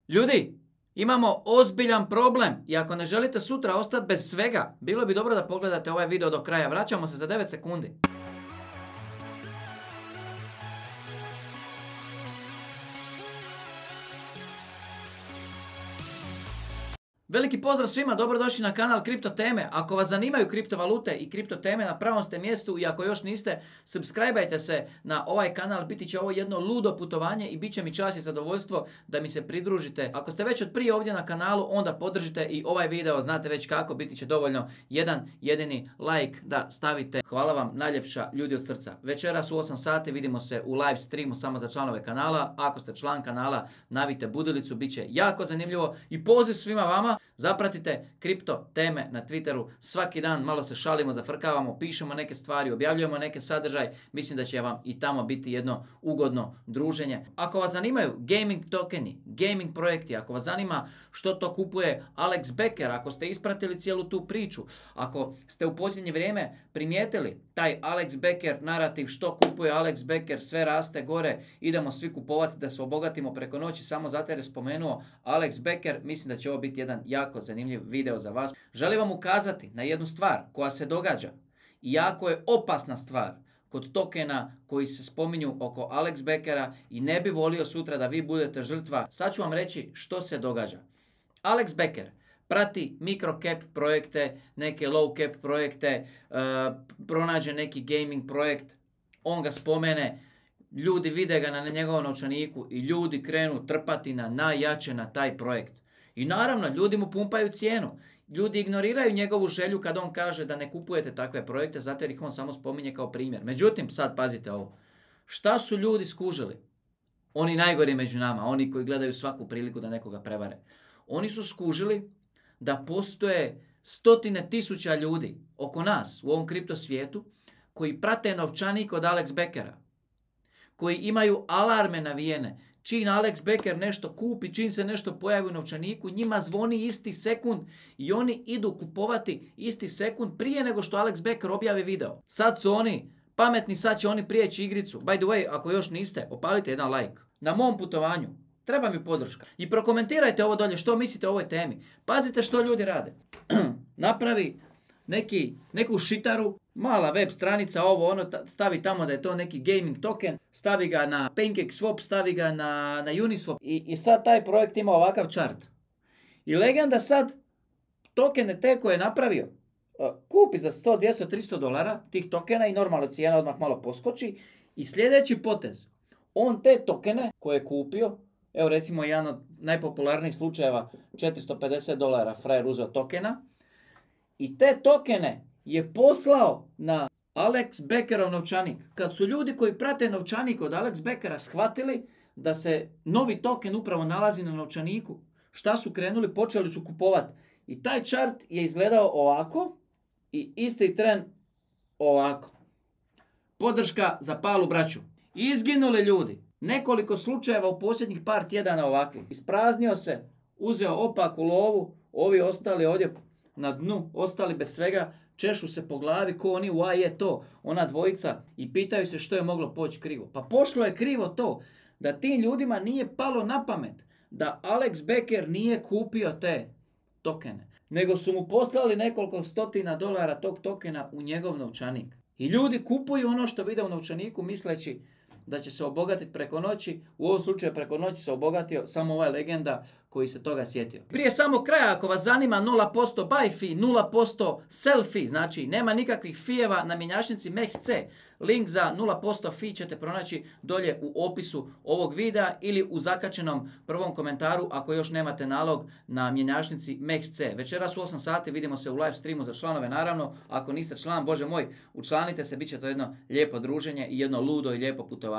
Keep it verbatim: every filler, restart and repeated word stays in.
Ljudi, imamo ozbiljan problem i ako ne želite sutra ostati bez svega, bilo bi dobro da pogledate ovaj video do kraja. Vraćamo se za devet sekundi. Veliki pozdrav svima, dobrodošli na kanal Kripto teme. Ako vas zanimaju kriptovalute i kripto teme, na pravom ste mjestu i ako još niste, subscribeajte se na ovaj kanal, biti će ovo jedno ludo putovanje i bit će mi čast i zadovoljstvo da mi se pridružite. Ako ste već od prije ovdje na kanalu, onda podržite i ovaj video, znate već kako, biti će dovoljno jedan jedini like da stavite. Hvala vam najljepša, ljudi od srca. Večeras u osam sati vidimo se u live streamu samo za članove kanala. Ako ste član kanala, navijte budilicu, bit će jako zanimljivo i poziv svima vama. Zapratite kripto teme na Twitteru, svaki dan malo se šalimo, zafrkavamo, pišemo neke stvari, objavljujemo neke sadržaje, mislim da će vam i tamo biti jedno ugodno druženje. Ako vas zanimaju gaming tokeni, gaming projekti, ako vas zanima što to kupuje Alex Becker, ako ste ispratili cijelu tu priču, ako ste u posljednje vrijeme primijetili taj Alex Becker narativ, što kupuje Alex Becker, sve raste gore, idemo svi kupovati da se obogatimo preko noći, samo zato jer je spomenuo Alex Becker, mislim da će ovo biti jedan jako zanimljiv video za vas. Želim vam ukazati na jednu stvar koja se događa i jako je opasna stvar kod tokena koji se spominju oko Alex Beckera i ne bi volio sutra da vi budete žrtva. Sad ću vam reći što se događa. Alex Becker prati micro cap projekte, neke low cap projekte, uh, pronađe neki gaming projekt, on ga spomene, ljudi vide ga na njegovom novčaniku i ljudi krenu trpati na najjače na taj projekt. I naravno, ljudi mu pumpaju cijenu. Ljudi ignoriraju njegovu želju kad on kaže da ne kupujete takve projekte, zato jer ih on samo spominje kao primjer. Međutim, sad pazite ovo. Šta su ljudi skužili? Oni najgori među nama, oni koji gledaju svaku priliku da nekoga prevare. Oni su skužili da postoje stotine tisuća ljudi oko nas u ovom kripto svijetu koji prate novčanik od Alex Beckera, koji imaju alarme navijene. Čim Alex Becker nešto kupi, čim se nešto pojavi u novčaniku, njima zvoni isti sekund i oni idu kupovati isti sekund prije nego što Alex Becker objavi video. Sad su oni pametni, sad će oni prijeći igricu. By the way, ako još niste, opalite jedan like. Na mom putovanju treba mi podrška. I prokomentirajte ovo dolje što mislite o ovoj temi. Pazite što ljudi rade. Napravi neki, neku šitaru, mala web stranica, ovo ono, stavi tamo da je to neki gaming token, stavi ga na PancakeSwap, stavi ga na, na Uniswap i, i sad taj projekt ima ovakav chart. I legenda sad tokene te koje je napravio, uh, kupi za sto, dvjesto, tristo dolara tih tokena i normalno cijena odmah malo poskoči i sljedeći potez, on te tokene koje je kupio, evo recimo jedan od najpopularnijih slučajeva, četiristo pedeset dolara frajer uzeo tokena i te tokene je poslao na Alex Beckerov novčanik. Kad su ljudi koji prate novčanik od Alex Beckera shvatili da se novi token upravo nalazi na novčaniku, šta su krenuli? Počeli su kupovati. I taj chart je izgledao ovako i isti tren ovako. Podrška za Palu braću. Izginuli ljudi. Nekoliko slučajeva u posljednjih par tjedana ovakvih. Ispraznio se, uzeo opaku lovu, ovi ostali ovdje na dnu, ostali bez svega, češu se po glavi ko oni, why je to, ona dvojica i pitaju se što je moglo poći krivo. Pa pošlo je krivo to da tim ljudima nije palo na pamet da Alex Becker nije kupio te tokene, nego su mu poslali nekoliko stotina dolara tog tokena u njegov novčanik. I ljudi kupuju ono što vide u novčaniku misleći da će se obogatiti preko noći. U ovom slučaju preko noći se obogatio samo ovaj legenda koji se toga sjetio. Prije samog kraja, ako vas zanima nula posto buy fee, nula posto sell fee, znači nema nikakvih fijeva na mjenjačnici M E X C. Link za nula posto fee ćete pronaći dolje u opisu ovog videa ili u zakačenom prvom komentaru ako još nemate nalog na mjenjačnici M E X C. Večeras u osam sati vidimo se u live streamu za članove, naravno. Ako niste član, bože moj, učlanite se, bit će to jedno lijepo druženje i jedno ludo i lijepo putovanje.